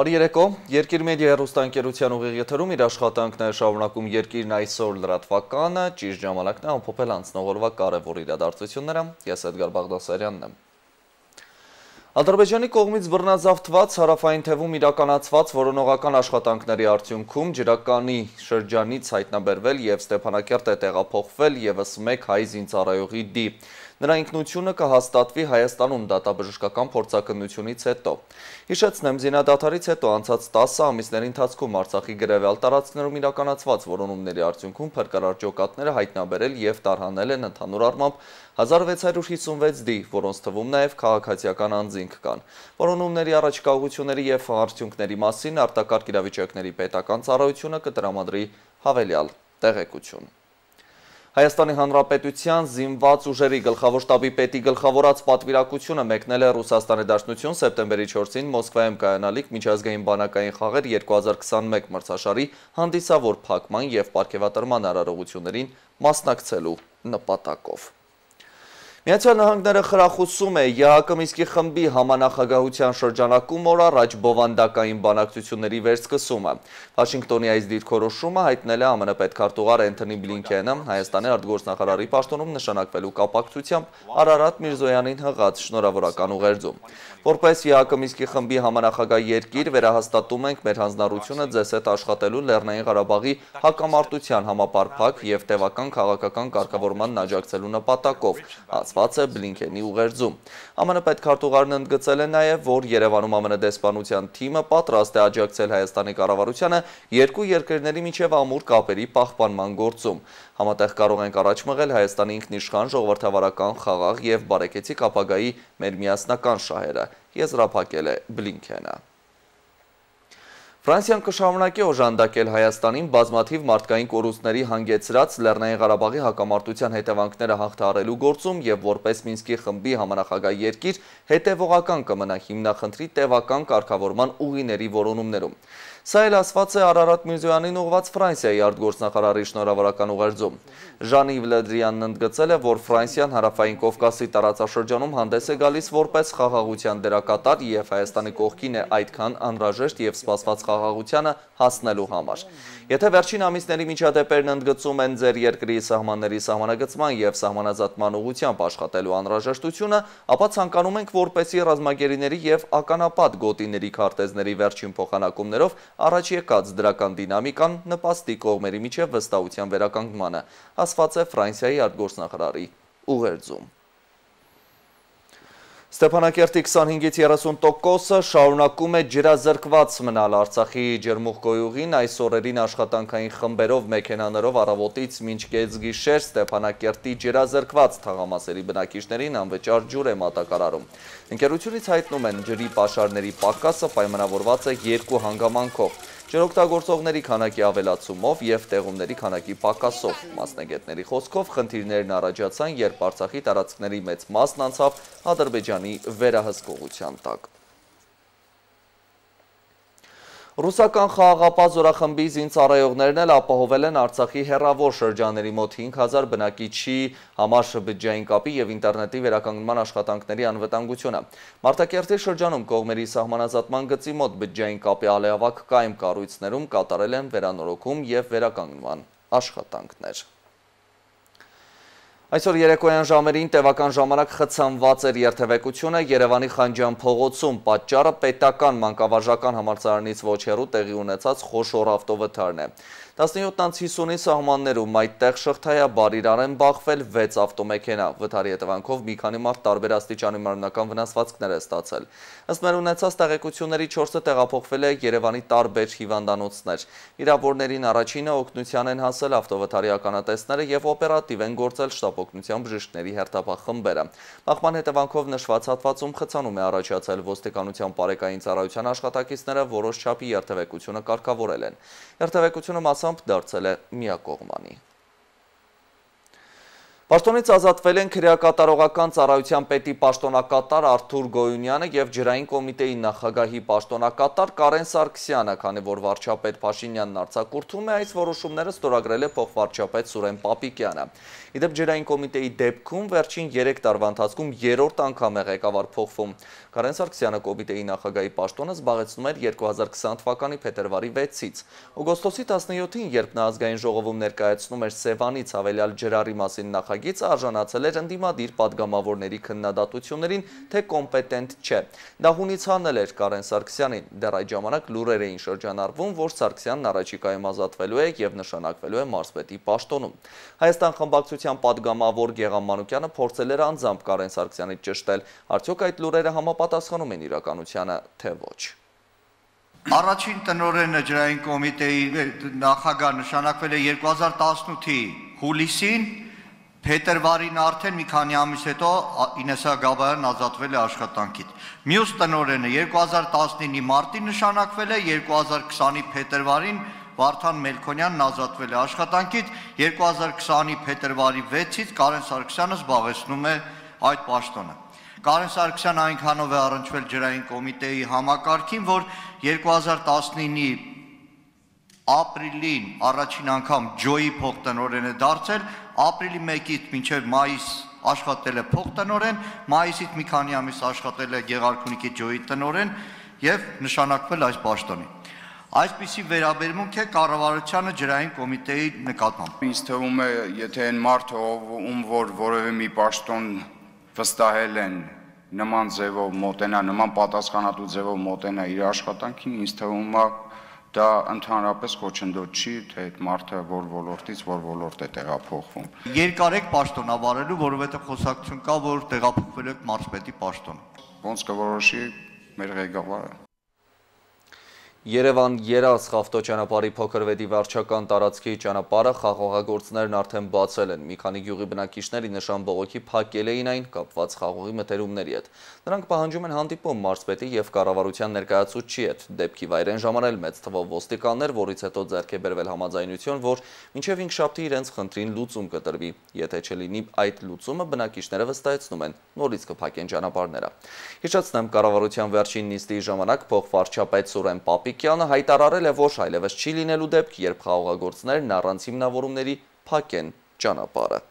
Բարի երեկո, Երկիր մեդիա հեռուստաընկերության ուղիղ եթերում իր աշխատանքն է շարունակում Երկիրն այսօր լրատվականը, ճիշտ ժամանակն է ամփոփել անցնող օրվա կարևոր իրադարձությունները, ես Էդգար Բաղդասարյանն եմ։ Ադրբեջանի կողմից բռնազավթված հարավային թևում իրականացված որոնողական աշխատանքների արդյունքում ջրականի շրջանից հայտնաբերվել և Ստեփանակերտ է տեղափոխվել ևս մեկ հայ զինծառայողի դի։ Նրա ինքնությունը կհաստատվի Հայաստանում դատաբժշկական փորձաքննությունից հետո։ Հիշեցնեմ, զինադադարից հետո անցած 10 ամիսների ընթացքում Արցախի գրեւյալ տարածքներում իրականացված որոնումների արդյունքում փրկարար ջոկատները հայտնաբերել և տարհանել են ընդհանուր առմամբ 1656 դի, որոնց թվում նաև քաղաքացիական անձինք կան։ Որոնումների առաջիկա ուղղությունների և արդյունքների մասին արտակարգ իրավիճակների պետական ծառայությունը կտրամադրի հավելյալ տեղեկություն։ Հայաստանի Հանրապետության զինված ուժերի գլխավոր շտաբի պետի գլխավորած պատվիրակությունը մեկնել է Ռուսաստանի Դաշնություն սեպտեմբերի 4-ին Մոսկվայում կայանալիք միջազգային բանակային խաղեր 2021 մրցաշարի հանդիսավոր փակման և պարգևատրման արարողություններին մասնակցելու նպատակով։ Միացյալ Նահանգները խրախուսում է ԵԱՀԿ Մինսկի խմբի համանախագահության շրջանակում օր առաջ բովանդակային բանակցությունների վերսկսումը։ Վաշինգտոնի այս դիրքորոշումը հայտնել է ԱՄՆ պետքարտուղար Էնթոնի Բլինքենը Հայաստանի արտգործնախարարի պաշտոնում նշանակվելու կապակցությամբ Արարատ Միրզոյանին հղած շնորհավորական ուղերձում։ Որպես ԵԱՀԿ Մինսկի խմբի համանախագահ երկիր վերահաստատում ենք մեր հանձնառությունը ձեզ հետ աշխատելու Լեռնային Ղարաբաղի հակամարտության համապարփակ և տևական քաղաքական կարգավորմանն աջակցելու նպատակով, ասված է Բլինքենի ուղերձում։ ԱՄՆ պետքարտուղարն ընդգծել է նաև, որ Երևանում ԱՄՆ դեսպանության թիմը պատրաստ է աջակցել Հայաստանի կառավարությանը երկու երկրների միջև ամուր կապերի պահպանման գործում։ Համատեղ կարող ենք առաջ մղել Հայաստանի ինքնիշխան ժողովրդավարական, խաղաղ և բարեկեցիկ ապագայի մեր միասնական շահերը, եզրափակել է Բլինքենը։ Ֆրանսիան կշարունակի օժանդակել Հայաստանին բազմաթիվ մարդկային կորուստների հանգեցրած Լեռնային Ղարաբաղի հակամարտության հետևանքները հաղթահարելու գործում և որպես Մինսկի խմբի համանախագահ երկիր հետևողական կմնա հիմնախնդրի տևական կարգավորման ուղիների որոնումներում։ Սա էլ ասված է Արարատ Միրզոյանին ուղղված Ֆրանսիայի արտգործնախարարի շնորհավորական ուղերձում։ Ժան-Իվ Լը Դրիանն ընդգծել է, որ Ֆրանսիան Հարավային Կովկասի տարածաշրջանում հանդես է գալիս որպես խաղաղության դերակատար և Հայաստանի կողքին է այդքան անհրաժեշտ և սպասված խաղաղությանը հասնելու համար։ Եթե վերջին ամիսների միջադեպերն ընդգծում են ձեր երկրի սահմանների սահմանագծման և սահմանազատման ուղղությամբ աշխատելու անհրաժեշտությունը, ապա ցանկանում ենք, որպեսզի ռազմագերիների և ականապատ գոտիների քարտեզների վերջին փոխանակումներով առաջ եկած դրական դինամիկան նպաստի կողմերի միջև վստահության վերականգնմանը, ասված է Ֆրանսիայի արտգործնախարարի ուղերձում։ Ստեփանակերտի 25-ից 30%-ը շարունակում է ջրազրկված մնալ։ Արցախի ջերմուղգոյուղին այս օրերին աշխատանքային խմբերով մեքենաներով առավոտից մինչ կեսգիշեր Ստեփանակերտի ջրազրկված թաղամասերի բնակիչներին անվճար ջուր է մատակարարում։ Ընկերությունից հայտնում են, ջրի պաշարների պակասը պայմանավորված է երկու հանգամանքով՝ ջրօգտագործողների քանակի ավելացումով և տեղումների քանակի պակասով։ Մասնագետների խոսքով խնդիրներն առաջացան, երբ Արցախի տարածքների մեծ մասն անցավ Ադրբեջանի վերահսկողության տակ։ Ռուսական խաղաղապահ զորախմբի զինծառայողներն էլ ապահովել են Արցախի հեռավոր շրջանների մոտ 5000 բնակիչի համար բջջային կապի և ինտերնետի վերականգնման աշխատանքների անվտանգությունը։ Մարտակերտի շրջանում կողմերի սահմանազատման գծի մոտ բջջային կապի ալեավակ կայմ կառույցներում կատարել են վերանորոգում և վերականգնման աշխատանքներ։ Այսօր երեկոյան ժամերին տևական ժամանակ խցանված էր երթևեկությունը Երևանի Խանջյան փողոցում, պատճառը պետական մանկավարժական համալսարանից ոչ հեռու տեղի ունեցած խոշոր ավտովթարն է։ 17-50-ի սահմաններում այդտեղ շղթայաբար իրար են բախվել 6 ավտոմեքենա, վթարի հետևանքով մի քանի մարդ տարբեր աստիճանի մարմնական վնասվածքներ է ստացել։ Ըստ մեր ունեցած տեղեկությունների 4-ը տեղափոխվել է Երևանի տարբեր հիվանդանոցներ։ Վիրավորներին առաջինը օգնության են հասել ավտովթարի ականատեսները և օպերատիվ են գործել շտապօգնության բժիշկների հերթապահ խմբերը։ Բախման հետևանքով նշված հատվածում խցանում է առաջացել, ոստիկանության բարեկային ծառայության աշխատակիցները որոշ չափի երթևեկությունը կարգավորել են։ Երթևեկությունը մասամբ դարձել է միակողմանի։ Պաշտոնից ազատվել են քրեակատարողական ծառայության պետի պաշտոնակատար Արթուր Գոյունյանը և ջրային կոմիտեի նախագահի պաշտոնակատար Կարեն Սարգսյանը, քանի որ վարչապետ Փաշինյանն արձակուրդում է, այս որոշումները ստորագրել է փոխվարչապետ Սուրեն Պապիկյանը։ Իդեպ ջրային կոմիտեի դեպքում վերջին 3 տարվա ընթացքում 3-րդ անգամ է ղեկավար փոխվում։ Կարեն Սարգսյանը կոմիտեի նախագահի պաշտոնը զբաղեցնում էր 2020 թվականի փետրվարի 6-ից։ Օգոստոսի 17-ին, երբ նա ազգային ժողովում ներկայացնում էր Սևանից հավելյալ ջրարի մասին նախագիծը, արժանացել էր ընդդիմադիր պատգամավորների քննադատություններին, թե կոմպետենտ չէ։ Դա հունից հանել էր Կարեն Սարգսյանին։ Դեռ այդ ժամանակ լուրեր էին շրջանառվում, որ Սարգսյանն առաջիկայում ազատվելու է և նշանակվելու է մարզպետի պաշտոնում։ Հայաստան խմբակցության պատգամավոր Գեղամ Մանուկյանը փորձել էր անձամբ Կարեն Սարգսյանից ճշտել, արդյոք այդ լուրերը համապատասխանում են իրականությանը, թե ոչ։ Առաջին տնօրենը ջրային կոմիտեի նախագահ նշանակվել է 2018-ի հուլիսին, փետրվարին արդեն մի քանի ամիս հետո Ինեսա Գաբայանն ազատվել է աշխատանքից։ Մյուս տնօրենը 2019-ի մարտին նշանակվել է, 2020-ի փետրվարին Վարդան Մելքոնյանն ազատվել է աշխատանքից, 2020-ի փետրվարի 6-ից Կարեն Սարգսյանը զբաղեցնում է այդ պաշտոնը։ Կարեն Սարգսյանը այնքանով է առնչվել ջրային կոմիտեի համակարգին, որ 2019-ի ապրիլին առաջին անգամ ջոյի փոխտնօրեն է դարձել, ապրիլի 1-ից մինչև մայիս աշխատել է փոխտնօրեն, մայիսից մի քանի ամիս աշխատել է Գեղարքունիքի ջոյի տնօրեն և նշանակվել այս պաշտոնի։ Այսպիսի վերաբերմունք է կառավարությանը ջրային կոմիտեի նկատմամբ։ Ինձ թվում է, եթե այն մարդը, ում որ որևէ մի պաշտոն վստահել են, նման ձևով մոտենա, նման պատասխանատու ձևով մոտենա իր աշխատանքին, ինձ թվում է դա ընդհանրապես խոչընդոտ չի, թե այդ մարդը որ ոլորտից որ ոլորտ է տեղափոխվում։ Երկար եք պաշտոնավարելու, որովհետև խոսակցություն կա, որ տեղափոխվելու եք մարզպետի պաշտոն։ Ոնց կորոշի մեր ղեկավարը։ Երևան-Երազ ավտոճանապարհի փոքրվետի վարչական տարածքի ճանապարհը խաղողագործներն արդեն բացել են։ Մի քանի գյուղի բնակիչների նշան բողոքի փակել էին այն կապված խաղողի մթերումների հետ։ Նրանք պահանջում են հանդիպում մարզպետի և կառավարության ներկայացուցչի հետ։ Դեպքի վայր են ժամանել մեծ թվով ոստիկաններ, որից հետո ձեռք է բերվել համաձայնություն, որ մինչև հինգշաբթի իրենց խնդրին լուծում կտրվի։ Եթե չլինի այդ լուծումը, բնակիչները վստահեցնում են, նորից կփակեն ճանապարհները։ Հիշեցնեմ, կառավարության վերջին նիստի ժամանակ փոխվարչապետ Սուրեն Պապիկյանը հայտարարել է, որ այլևս չի լինելու դեպք, երբ խաղողագործներն առանց հիմնավորումների փակեն ճանապարհը։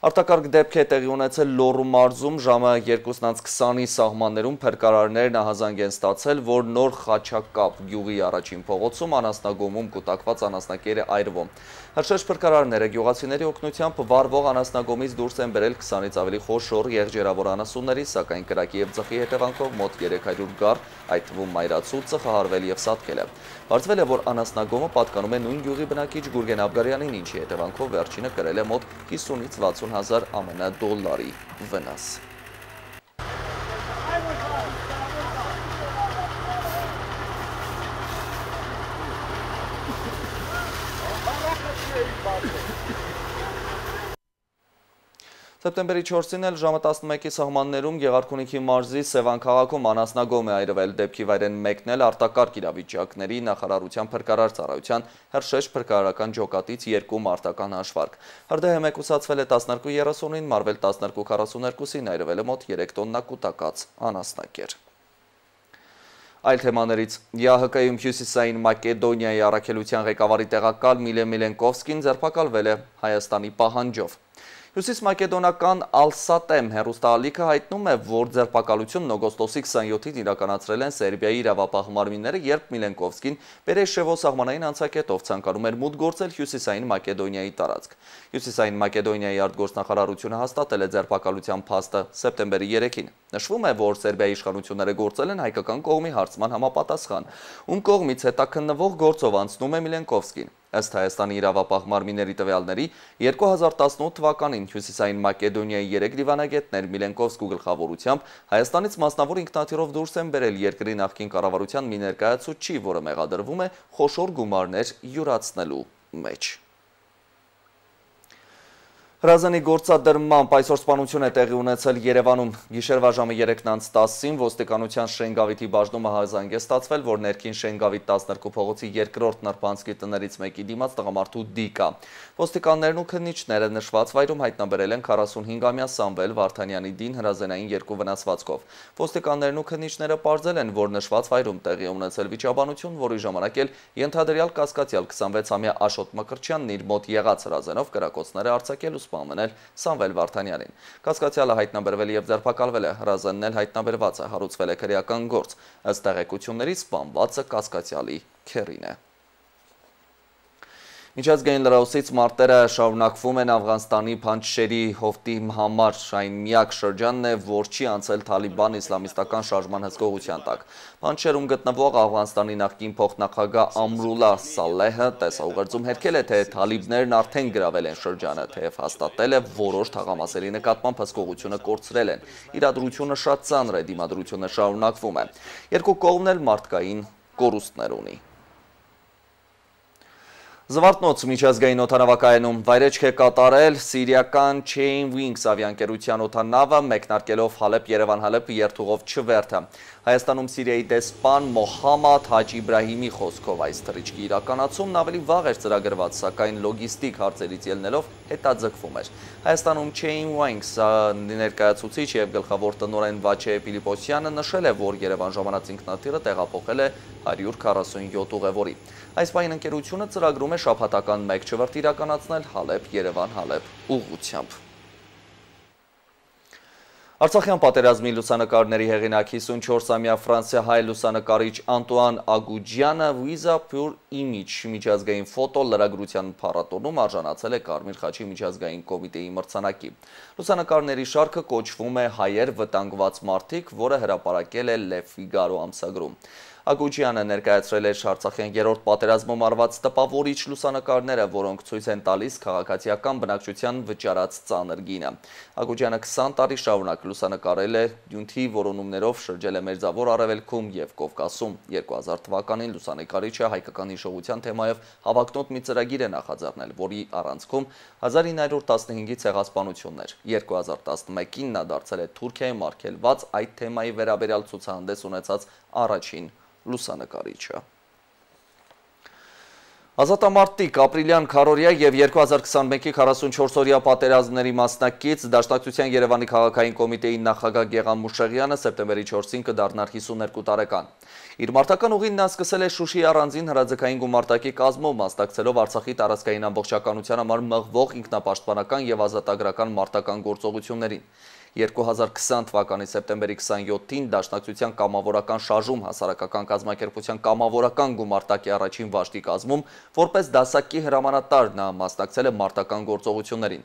Արտակարգ դեպք է տեղի ունեցել Լոռու մարզում ժամը 2:20-ի սահմաններում փրկարարներն ահազանգ են ստացել, որ Նոր Խաչակապ գյուղի առաջին փողոցում անասնագոմում կուտակված անասնակեր է այրվում։ Հրշեջ փրկարարները գյուղացիների օգնությամբ վառվող անասնագոմից դուրս են բերել 20-ից ավելի խոշոր եղջերավոր անասունների, սակայն կրակի և ձխի հետևանքով մոտ 300 գառ, այդ թվում մայրացու, ծխահարվել և սատկել է։ Պարզվել է, որ անասնագոմը պատկանում է նույն գյուղի բնակիչ Գուրգեն Աբգարյանին, ինչի հետևանքով վերջինը կրել է մոտ 50-ից 60 հազար ԱՄՆ դոլարի վնաս։ Սեպտեմբերի 4-ին էլ ժամը 11-ի սահմաններում Գեղարքունիքի մարզի Սևան քաղաքում անասնագոմ է այրվել։ Դեպքի վայր են մեկնել արտակարգ իրավիճակների նախարարության փրկարար ծառայության հրշեջ փրկարարական ջոկատից 2 մարտական հաշվարկ։ Հրդեհը մեկուսացվել է 12:30-ին, մարվել 12:42-ին, այրվել է մոտ 3 տոննա կուտակած անասնակեր։ Այլ թեմաներից ԵԱՀԿ-ում Հյուսիսային Մակեդոնիայի առաքելության ղեկավարի տեղակալ Միլե Միլենկովսկին ձերբակալվել է Հայաստանի պահանջով։ Հյուսիս մակեդոնական Ալսատեմ հեռուստաալիքը հայտնում է, որ ձերբակալությունն օգոստոսի 27-ին իրականացրել են Սերբիայի իրավապահ մարմինները, երբ Միլենկովսկին Պերեշևո սահմանային անցակետով ցանկանում էր մուտք գործել Հյուսիսային Մակեդոնիայի տարածք։ Հյուսիսային Մակեդոնիայի արտգործնախարարությունը հաստատել է ձերբակալության փաստը սեպտեմբերի 3-ին։ Նշվում է, որ Սերբիայի իշխանությունները գործել են հայկական կողմի հարցման համապատասխան, ում կողմից հետաքննվող գործով անցնում է Միլենկովսկին։ Ըստ Հայաստանի իրավապահ մարմինների տվյալների 2018 թվականին Հյուսիսային Մակեդոնիայի 3 դիվանագետներ Միլենկովսկու գլխավորությամբ Հայաստանից մասնավոր ինքնաթիռով դուրս են բերել երկրի նախկին կառավարության մի ներկայացուցչի, որը մեղադրվում է խոշոր գումարներ յուրացնելու մեջ։ Հրազանի գործադրմամբ այսօր սպանություն է տեղի ունեցել Երևանում։ Գիշերվա ժամը 3:10-ին ոստիկանության Շենգավիթի բաժնումը հայազանգ է ստացվել, որ ներքին Շենգավիթ 12 փողոցի 2-րդ նրբանցքի տներից մեկի դիմաց տղամարդու դիկ կա։ Ոստիկաններն ու քննիչները նշված վայրում հայտնաբերել են 45-ամյա Սամվել Վարդանյանի դին հրազենային 2 վնասվածքով։ Ոստիկաններն ու քննիչները պարզել են, որ նշված վայրում տեղի է ունեցել վիճաբանություն, որի ժամանակ էլ ենթադրյալ կասկածյալ 26-ամյա Աշոտ Մկրտչյանն իր մոտ եղած հրազենով կրակոցները արձակել ու սպանել Սամվել Վարդանյանին։ Կասկածյալը հայտնաբերվել եւ ձերբակալվել է, հրազենն էլ հայտնաբերված է, հարուցվել է քրեական գործ։ Ըստ տեղեկությունների սպանվածը կասկածյալի քեռին է։ Միջազգային լրահոսից մարտերը շարունակվում են Աֆղանստանի Փանջշերի հովտի համար, այն միակ շրջանն է, որ չի անցել Թալիբան իսլամիստական շարժման հսկողության տակ։ Փանջշերում գտնվող Աֆղանստանի նախկին փոխնախագահ Ամրուլլա Սալեհը տեսաուղերձում հերքել է, թե թալիբներն արդեն գրավել են շրջանը, թեև հաստատել է որոշ թաղամասերի նկատմամբ հսկողությունը կորցրել են։ Իրադրությունը շատ ծանր է, դիմադրությունը շարունակվում է։ Երկու կողմն էլ մարդկային կորուստներ ունի։ Զվարթնոց միջազգային օդանավակայանում վայրեջք է կատարել սիրիական Chain Wings ավիաընկերության օդանավը, մեկնարկելով Հալեբ-Երևան-Հալեբ երթուղով չվերթը։ Հայաստանում Սիրիայի դեսպան Մոհամմադ Հաջի Իբրահիմի խոսքով այս թռիչքի իրականացումն ավելի վաղ էր ծրագրված, սակայն լոգիստիկ հարցերից ելնելով հետաձգվում էր։ Հայաստանում Chain Wings ներկայացուցիչ եւ գլխավոր տնօրեն Վաչե Պիլիպոսյանը նշել է, որ Երևան ժամանած ինքնաթիռը տեղափոխել է 147 ուղևորի։ Այս պահին ընկերությունը ծրագրում է շաբաթական 1 չվերթ իրականացնել Հալեբ-Երևան-Հալեբ ուղղությամբ։ Արցախյան պատերազմի լուսանկարների հեղինակ 54-ամյա ֆրանսիահայ լուսանկարիչ Անտուան Ագուջյանը Visa Pure Image միջազգային ֆոտո լրագրության փառատոնում արժանացել է Կարմիր խաչի միջազգային կոմիտեի մրցանակի։ Լուսանկարների շարքը կոչվում է «Հայեր վտանգված մարդիկ», որը հրապարակել է Le Figaro ամսագրում։ Ագուջյանը ներկայացրել էր Արցախյան երրորդ պատերազմում արված տպավորիչ լուսանկարները, որոնք ցույց են տալիս քաղաքացիական բնակչության վճարած ծանր գինը։ Ագուջյանը 20 տարի շարունակ լուսանկարել է Դյունթի որոնումներով, շրջել է Մերձավոր Արևելքում եւ Կովկասում։ 2000 թվականին լուսանկարիչը հայկական հիշողության թեմայով հավակնոտ մի ծրագիր է նախաձեռնել, որի առանցքում 1915-ի ցեղասպանություններ։ 2011-ին նա դարձել է Թուրքիայում արգելված այդ թեմայի վերաբերյալ ցուցահանդես ունեցած առաջին լուսանկարիչը։ Ազատամարտիկ ապրիլյան քարորյա եւ 2021-ի 44-օրյա պատերազմների մասնակից Դաշնակցության Երևանի քաղաքային կոմիտեի նախագահ Գեղամ Մուշեղյանը սեպտեմբերի 4-ին կդառնար 52 տարեկան։ Իր մարտական ուղին նա սկսել է Շուշիի առանձին հրաձգային գումարտակի կազմով, մասնակցելով Արցախի տարածքային ամբողջականության համար մղվող ինքնապաշտպանական եւ ազատագրական մարտական գործողություններին։ 2020 թվականի սեպտեմբերի 27-ին Դաշնակցության կամավորական շարժում հասարակական կազմակերպության կամավորական գումարտակի առաջին վաշտի կազմում, որպես դասակի հրամանատար նա մասնակցել է մարտական գործողություններին։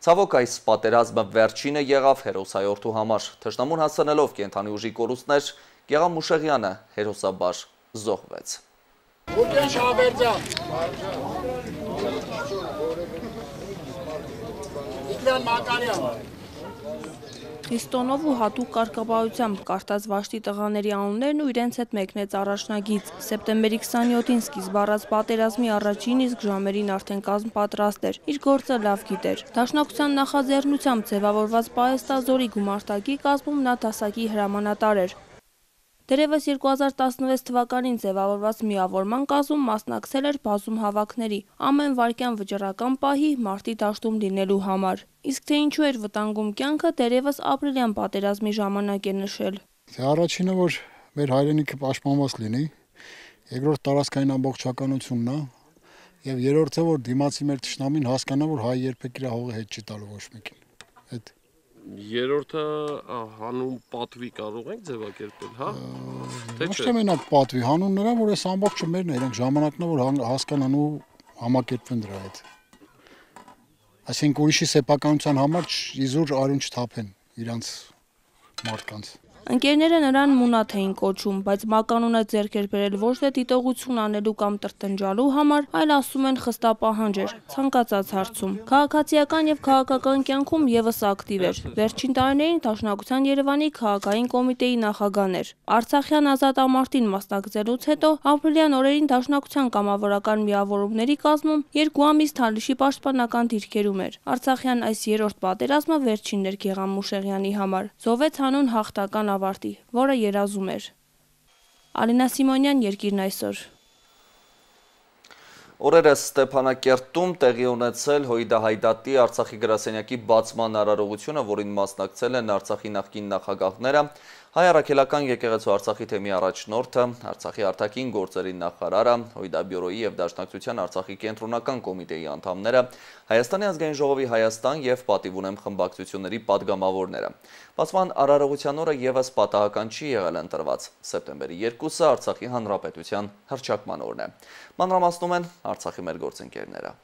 Ցավոք այս պատերազմը վերջինը եղավ հերոսայորդու համար։ Թշնամուն հասցնելով կենդանի ուժի կորուստներ, Գեղամ Մուշեղյանը հերոսաբար զոհվեց։ Քրիստոնով ու հատուկ կարգապահությամբ կարտած վաշտի տղաների անուններն ու իրենց հետ մեկնեց առաջնագիծ։ Սեպտեմբերի 27-ին սկիզբ առած պատերազմի առաջին իսկ ժամերին արդեն կազմ պատրաստ էր, իր գործը լավ գիտեր։ Դաշնակցության նախաձեռնությամբ ձևավորված Պահեստազորի գումարտակի կազմում նա դասակի հրամանատար էր։ Դերևս 2016 թվականին ձևավորված միավորման կազմում մասնակցել էր բազում հավաքների, ամեն վայրկյան վճռական պահի մարտի դաշտում լինելու համար։ Իսկ թե ինչու էր վտանգում կյանքը, դերևս ապրիլյան պատերազմի ժամանակ է նշել։ Առաջինը, որ մեր հայրենիքը պաշտպանված լինի, երկրորդ տարածքային ամբողջականությունն է, եւ երրորդը, որ դիմացի մեր թշնամին հասկանա, որ հայ երբեք իր հողը հետ չի տալու ոչ մեկին։ Այդ Երրորդը հանուն պատվի կարող ենք ձևակերպել, հա? Թե չէ։ Ոչ թե մենակ պատվի, հանուն նրա, որ այս ամբողջը մերն է, իրենք ժամանակն է, որ հասկանան ու համակերպվեն դրա հետ։ Այսինքն ուրիշի սեփականության համար իզուր արյուն չթափեն իրանց մարդկանց։ Ընկերները նրան Մունաթ էին կոչում, բայց մականունը ձեռք էր բերել ոչ թե դիտողություն անելու կամ տրտնջալու համար, այլ ասում են խստապահանջ էր, ցանկացած հարցում։ Քաղաքացիական եւ քաղաքական կյանքում եւս ակտիվ էր։ Վերջին տարիներին Դաշնակցության Երևանի քաղաքային կոմիտեի նախագահն էր։ Արցախյան ազատ ամարտին մասնակցելուց հետո ապրիլյան օրերին Դաշնակցության կամավորական միավորումների կազմում 2 ամիս Թալիշի պաշտպանական դիրքերում էր։ Արցախյան այս երրորդ պատերազմը վերջինն էր Գեղամ Մուշեղյանի համար։ Զոհվեց հանուն հաղթական ավարտի, որը երազում էր։ Ալինա Սիմոնյան, Երկիրն այսօր։ Օրերս Ստեփանակերտում տեղի ունեցել Հույդա Հայդատի Արցախի գրասենյակի բացման արարողությունը, որին մասնակցել են Արցախի նախկին նախագահները, Հայ առաքելական եկեղեցու Արցախի թեմի առաջնորդը, Արցախի արտաքին գործերի նախարարը, Հույդա բյուրոյի եւ Դաշնակցության Արցախի կենտրոնական կոմիտեի անդամները, Հայաստանի ազգային ժողովի Հայաստան եւ պատիվ ունեմ խմբակցությունների падգամավորները։ Բացման արարողության օրը եւս պատահական չի եղել ընտրված։ Սեպտեմբերի 2-ը Արցախի հանրապետության հռչակման օրն է։ Մանրամասնում են Արցախի մեր գործընկերները։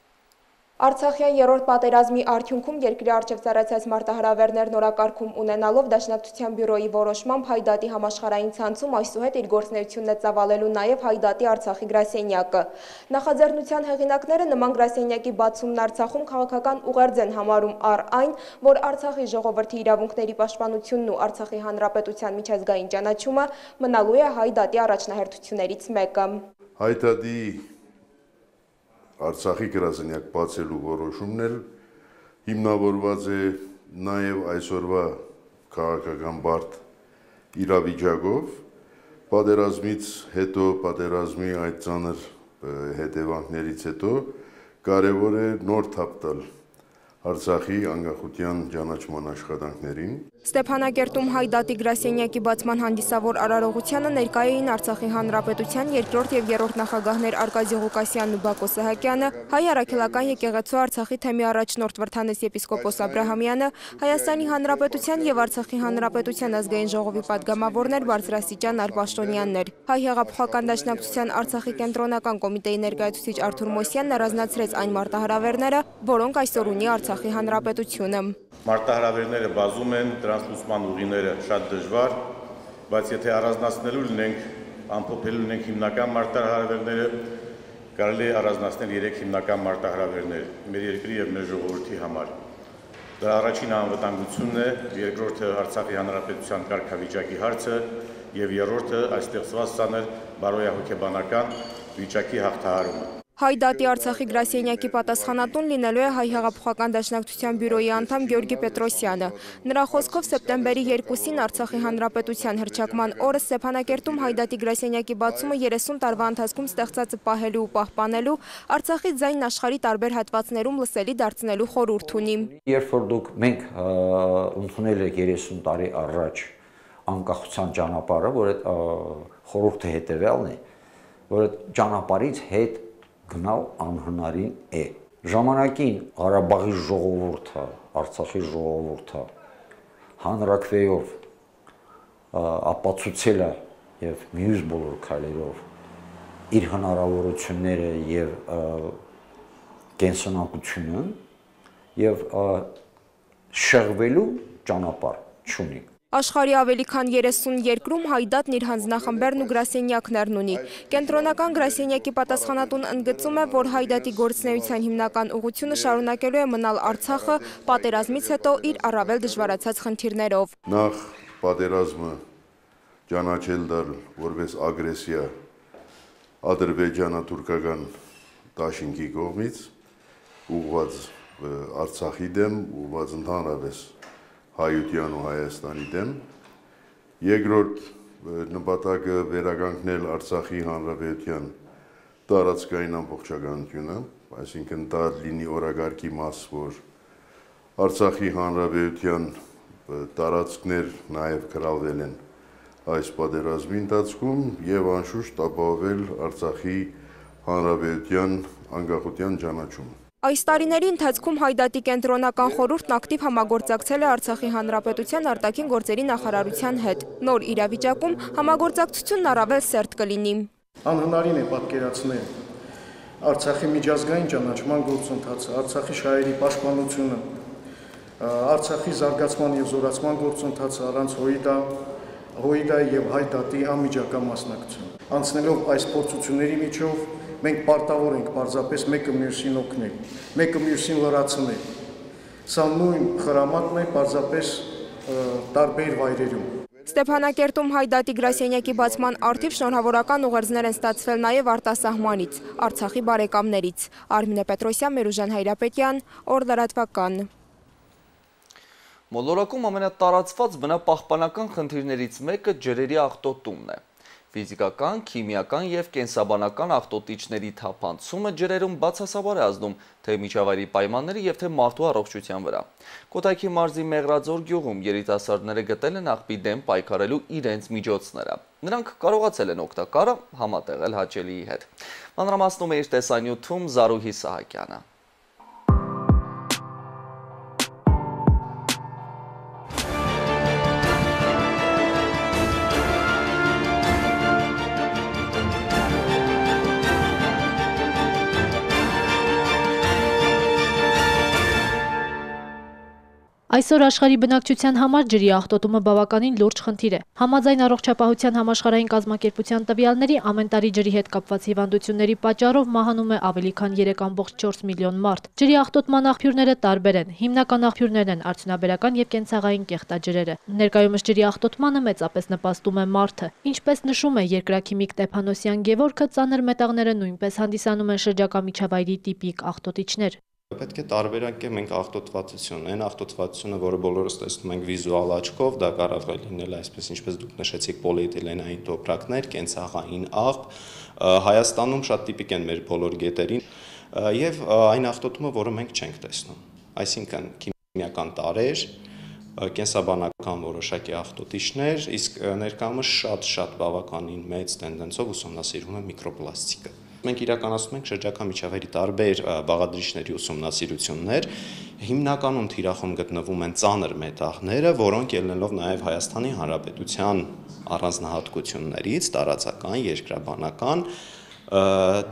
Արցախյան երրորդ պատերազմի արդյունքում երկրի առջև ծառայած մարտահրավերներն օրակարգում ունենալով Դաշնակցության բյուրոյի որոշմամբ Հայդատի համաշխարհային ցանցում այսուհետ իր գործունեությունն է ծավալելու նաև Հայդատի Արցախի գրասենյակը։ Նախաձեռնության հեղինակները նման գրասենյակի բացումն Արցախում քաղաքական ուղերձ են համարում առ այն, որ Արցախի ժողովրդի իրավունքների պաշտպանությունն ու Արցախի հանրապետության միջազգային ճանաչումը մնալու է Հայդատի առաջնահերթություններից մեկը։ Հայդատի Արցախի գրասենյակ բացելու որոշումն էլ հիմնավորված է նաև այսօրվա քաղաքական բարդ իրավիճակով, պատերազմից հետո, պատերազմի այդ ծանր հետևանքներից հետո կարևոր է նոր թափ տալ Արցախի անկախության ճանաչման աշխատանքներին։ Ստեփանակերտում Հայդատի գրասենյակի բացման հանդիսավոր արարողությանը ներկայ էին Արցախի հանրապետության երկրորդ եւ երրորդ նախագահներ Արկադի Ղուկասյանն ու Բակո Սահակյանը, Հայ առաքելական եկեղեցու Արցախի թեմի առաջնորդ Վրթանես եպիսկոպոս Աբրահամյանը, Հայաստանի հանրապետության եւ Արցախի հանրապետության ազգային ժողովի падգամավորներ բարձրաստիճան Արպաշտոնյաններ։ Հայ հեղափոխական դաշնակցության Արցախի կենտրոնական կոմիտեի ներկայացուցիչ Արթուր Մոսյանն առանձնացրեց այն մարտահրավերները, որոնք այսօր ունի Արցախի հանրապետությունը։ Մարտահրավերները բազում են, դրանց լուծման ուղիները շատ դժվար, բայց եթե առանձնացնելու լինենք, ամփոփելու լինենք հիմնական մարտահրավերները, կարելի է առանձնացնել 3 հիմնական մարտահրավերներ մեր երկրի եւ մեր ժողովրդի համար։ Դա առաջին անվտանգությունն է, երկրորդը Արցախի հանրապետության կարգավիճակի հարցը եւ երրորդը այստեղծված ցաներ բարոյահոգեբանական վիճակի հաղթահարումը։ Հայդատի Արցախի գրասենյակի պատասխանատուն լինելու է Հայ հեղափոխական դաշնակցության բյուրոյի անդամ Գյորգի Պետրոսյանը։ Նրա խոսքով սեպտեմբերի 2-ին Արցախի հանրապետության հռչակման օրը Ստեփանակերտում Հայդատի գրասենյակի բացումը 30 տարվա ընթացքում ստեղծածը պահելու ու պահպանելու, Արցախի ձայնն աշխարհի տարբեր հատվածներում լսելի դարձնելու խորհուրդ ունի։ Երբ որ դուք մենք ընդունել եք 30 տարի առաջ անկախության ճանապարհը, որ այդ խորհուրդը հետևյալն է, որ այդ ճանապարհից հետ գնալ անհնարին է։ Ժամանակին Ղարաբաղի ժողովուրդը, Արցախի ժողովուրդը հանրակրվեով ապացուցել է եւ մյուս բոլոր քայլերով իր հնարավորությունները եւ կենսունակությունը եւ շեղվելու ճանապարհ չունի։ Աշխարհի ավելի քան 30 երկրում Հայդատն իր հանձնախմբերն ու գրասենյակներն ունի։ Կենտրոնական գրասենյակի պատասխանատուն ընդգծում է, որ Հայդատի գործունեության հիմնական ուղղությունը շարունակելու է մնալ Արցախը պատերազմից հետո իր առավել դժվարացած խնդիրներով։ Նախ պատերազմը ճանաչել դալ որպես ագրեսիա ադրբեջանա-թուրքական դաշինքի կողմից ուղղված Արցախի դեմ, ուղղված ընդհանրապես Հայության ու Հայաստանի դեմ, երկրորդ նպատակը վերականգնել Արցախի հանրապետության տարածքային ամբողջականությունը, այսինքն դա լինի օրակարգի մաս, որ Արցախի հանրապետության տարածքներ նաև գրավել են այս պատերազմի ընթացքում եւ անշուշտ ապահովել Արցախի հանրապետության անկախության ճանաչումը։ Այս տարիների ընթացքում Հայդատի կենտրոնական խորհուրդն ակտիվ համագործակցել է Արցախի հանրապետության արտաքին գործերի նախարարության հետ։ Նոր իրավիճակում համագործակցությունն առավել սերտ կլինի։ Անհնարին է պատկերացնել Արցախի միջազգային ճանաչման գործընթացը, Արցախի շահերի պաշտպանությունը, Արցախի զարգացման եւ զորացման գործընթացը առանց Հույդա, ՀՅԴ-ի եւ Հայդատի անմիջական մասնակցությամբ։ Անցնելով այս փորձությունների միջով մենք պարտավոր ենք պարզապես մեկը մյուսին օգնել, մեկը մյուսին լրացնել։ Սա նույն խրամատն է պարզապես տարբեր վայրերում։ Ստեփանակերտում Հայդատի գրասենյակի բացման առթիվ շնորհավորական ուղերձներ են ստացվել նաև արտասահմանից, Արցախի բարեկամներից։ Արմինե Պետրոսյան, Մերուժան Հայրապետյան, Օր լրատվական։ Մոլորակում ամենատարածված բնապահպանական խնդիրներից մեկը ջրերի աղտոտումն է։ Ֆիզիկական, քիմիական և կենսաբանական աղտոտիչների թափանցումը ջրերում բացասաբար է ազդում թե միջավայրի պայմանների և թե մարդու առողջության վրա։ Կոտայքի մարզի Մեղրաձոր գյուղում երիտասարդները գտել են աղբի դեմ պայքարելու իրենց միջոցները։ Նրանք կարողացել են օգտակարը համատեղել հաճելիի հետ։ Մանրամասնում է իր տեսանյութում Զարուհի Սահակյանը։ Այսօր աշխարհի բնակչության համար ջրի աղտոտումը բավականին լուրջ խնդիր է։ Համաձայն առողջապահության համաշխարհային կազմակերպության տվյալների, ամեն տարի ջրի հետ կապված հիվանդությունների պատճառով մահանում է ավելի քան 3.4 միլիոն մարդ։ Ջրի աղտոտման աղբյուրները տարբեր են։ Հիմնական աղբյուրներն են արդյունաբերական և կենցաղային կեղտաջրերը։ Ներկայումս ջրի աղտոտմանը մեծապես նպաստում է մարդը։ Ինչպես նշում է երկրաքիմիկ Տեփանոսյան Գևորգը, ծանր մետաղները նույնպես հանդիսանում են շրջակա միջավայրի տիպիկ աղտոտիչներ։ Պետք է տարբերակենք մենք աղտոտվածությունը, այն աղտոտվածությունը, որը բոլորս տեսնում ենք վիզուալ աչքով, դա կարող է լինել այսպես ինչպես դուք նշեցիք պոլիէթիլենային տոպրակներ, կենցաղային աղբ, Հայաստանում շատ տիպիկ են մեր բոլոր գետերին, եւ այն աղտոտումը, որը մենք չենք տեսնում, այսինքն քիմիական տարրեր, կենսաբանական որոշակի աղտոտիչներ, իսկ ներկայումս շատ բավականին մեծ տենդենսով ուսումնասիրվում է միկրոպլաստիկը։ Մենք իրականացնում ենք շրջակա միջավայրի տարբեր բաղադրիչների ուսումնասիրություններ, հիմնականում թիրախում գտնվում են ծանր մետաղները, որոնք ելնելով նաև Հայաստանի Հանրապետության առանձնահատկություններից, տարածական, երկրաբանական,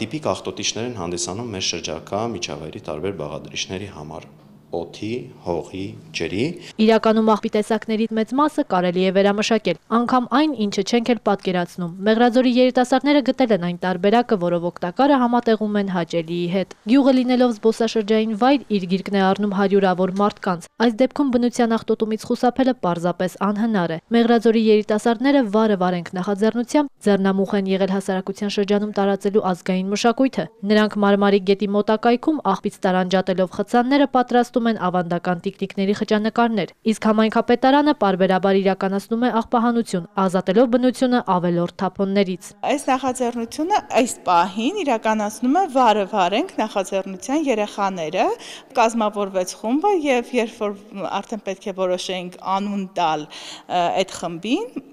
տիպիկ աղտոտիչներ են հանդիսանում մեր շրջակա միջավայրի տարբեր բաղադրիչների համար։ Օդի, հողի, ջրի։ Իրականում աղբի տեսակներից մեծ մասը կարելի է վերամշակել, անգամ այն, ինչը չենք էլ պատկերացնում։ Մեղրաձորի երիտասարդները գտել են այն տարբերակը, որով օգտակարը համատեղում են հաճելիի հետ։ Գյուղը լինելով զբոսաշրջային վայր, իր գիրկն է առնում հարյուրավոր մարդկանց։ Այս դեպքում բնության աղտոտումից խուսափելը պարզապես անհնար է։ Մեղրաձորի երիտասարդները վարենք նախաձեռնությամբ ձեռնամուխ են եղել հասարակության շրջանում տարածելու ազգային մշակույթը։ Նրանք Մարմարի գետի մոտակայքում աղբից տարանջատելով խցանները պատրաստում են ավանդական տիկնիկների խճանկարներ, իսկ համայնքապետարանը պարբերաբար իրականացնում է աղբահանություն, ազատելով բնությունը ավելորդ թափոններից։ Այս նախաձեռնությունը այս պահին իրականացնում է վարենք նախաձեռնության երեխաները, կազմավորվեց խումբը եւ երբ որ արդեն պետք է որոշենք անուն տալ այդ խմբին,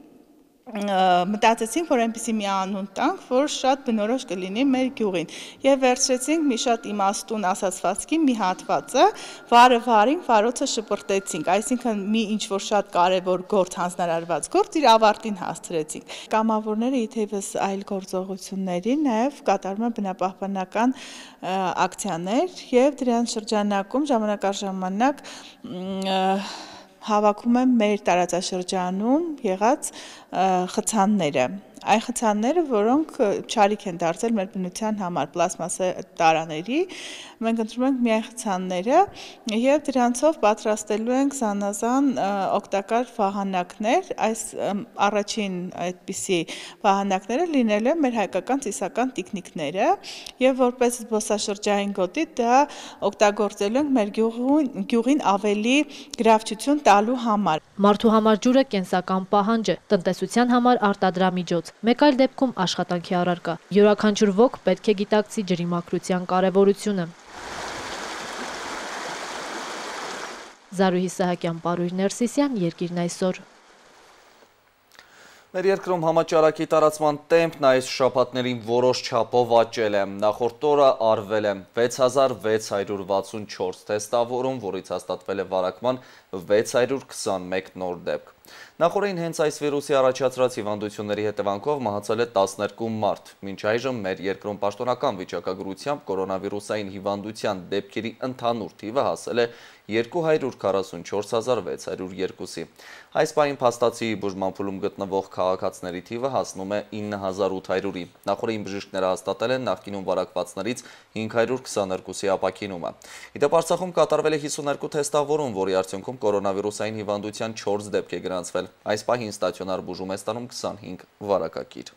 մտածեցինք, որ այնպիսի մի անուն տանք, որ շատ բնորոշ կլինի մեր գյուղին եւ վերցրեցինք մի շատ իմաստուն ասացվածքի մի հատվածը, վարին վարոցը շպրտեցինք, այսինքն մի ինչ որ շատ կարեւոր գործ հանձնարարված գործ իր ավարտին հասցրեցինք։ Կամավորները իթեւս այլ գործողությունների նաեւ կատարում են բնապահպանական ակցիաներ եւ դրանց շրջանակում ժամանակ առ ժամանակ հավաքում են մեր տարածաշրջանում եղած խցանները։ Այն խցանները, որոնք չարիք են դարձել մեր բնության համար, պլաստմասե տարաների, մենք ընտրում ենք միայն խցանները եւ դրանցով պատրաստելու ենք զանազան օգտակար վահանակներ, այս առաջին այդպիսի վահանակները լինելու են մեր հայկական ծիսական տիկնիկները եւ որպես զբոսաշրջային գոտի դա օգտագործելու ենք մեր գյուղին ավելի գրավչություն տալու համար։ Մարդու համար ջուրը կենսական պահանջ է, տնտեսության համար արտադրամիջոց, մեկ այլ դեպքում աշխատանքի առարկա։ Յուրաքանչյուր ոք պետք է գիտակցի ջրի մաքրության կարևորությունը։ Զարուհի Սահակյան, Պարույր Ներսիսյան, Երկիրն այսօր։ Մեր երկրում համաճարակի տարածման տեմպն այս շաբաթներին որոշ չափով աճել է։ Նախորդ օրը արվել է 6664 թեստավորում, որից հաստատվել է վարակման 621 նոր դեպք։ Նախորդին հենց այս վիրուսի առաջացրած հիվանդությունների հետևանքով մահացել է 12 մարդ։ Մինչ այժմ մեր երկրում պաշտոնական վիճակագրությամբ կորոնավիրուսային հիվանդության դեպքերի ընդհանուր թիվը հասել է 244,602-ի։ Այս պահին փաստացի բուժման փուլում գտնվող քաղաքացիների թիվը հասնում է 9800-ի։ Նախորդին բժիշկները հաստատել են նախկինում վարակվածներից 522-ի ապաքինումը։ Իդեպ Արցախում կատարվել է 52 թեստավորում, որի արդյունքում կորոնավիրուսային հիվանդության 4 դեպք է գրանցվել։ Այս պահին ստացիոնար բուժում է ստանում 25 վարակակիր։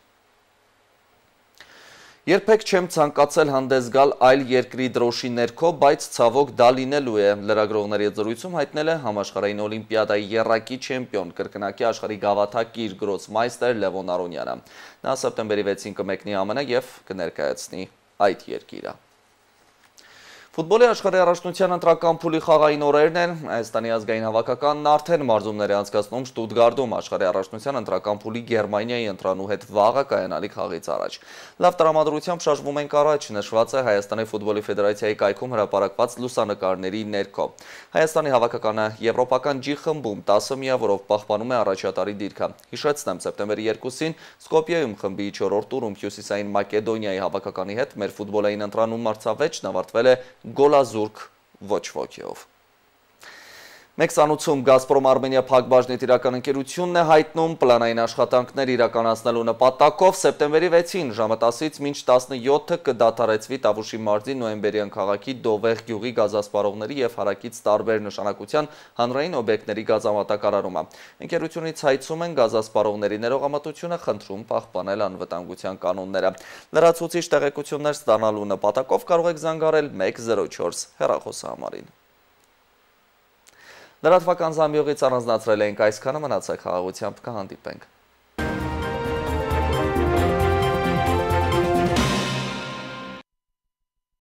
Երբեք չեմ ցանկացել հանդես գալ այլ երկրի դրոշի ներքո, բայց ցավոք դա լինելու է, լրագրողների հետ զրույցում հայտնել է համաշխարհային օլիմպիադայի եռակի չեմպիոն, կրկնակի աշխարհի գավաթակիր գրոսմայստեր Լևոն Արոնյանը։ Նա սեպտեմբերի 6-ին կմեկնի ԱՄՆ եւ կներկայացնի այդ երկիրը։ Ֆուտբոլի աշխարհի առաջնության ընտրական փուլի խաղային օրերն են, Հայաստանի ազգային հավաքականն արդեն մարզումներ է անցկացնում Շտուտգարտում աշխարհի առաջնության ընտրական փուլի Գերմանիայի ընտրանու հետ վաղը կայանալիք խաղից առաջ։ Լավ տրամադրությամբ շարժվում ենք առաջ, նշված է Հայաստանի ֆուտբոլի ֆեդերացիայի կայքում հրապարակված լուսանկարների ներքո։ Հայաստանի հավաքականը եվրոպական G խմբում 10 միավորով պահպանում է առաջատարի դիրքը։ Հիշեցնեմ, սեպտեմբերի 2-ին Սկոպիայում խմբի 4-րդ տուրում Հյուսիսային Մակեդոնիայի հավաքականի հետ մեր ֆուտբոլային ընտրանու մրցավեճն ավարտվել է գոլազուրկ ոչ ոքով։ Մեկ սանուցում Գազպրոմ Արմենիա փակbaşնի տիրական ընկերությունն է հայտնում պլանային աշխատանքներ իրականացնելու նպատակով սեպտեմբերի 6-ին ժամը 10-ից մինչ 17-ը կդադարեցվի Տավուշի մարզի Նոյեմբերյան քաղաքի Դովեղ գյուղի գազասպառողների եւ հարակից տարբեր նշանակության հանրային օբյեկտների գազամատակարարումը։ Ընկերությունից հայցում են գազասպառողների ներողամտությունը, խնդրում պահպանել անվտանգության կանոնները։ Լրացուցիչ տեղեկություններ ստանալու նպատակով կարող եք զանգարել 104 հեռախոսահամարին։ Լրատվական զամբյուղից առանձնացրել ենք այսքանը, մնացեք խաղաղությամբ, կհանդիպենք։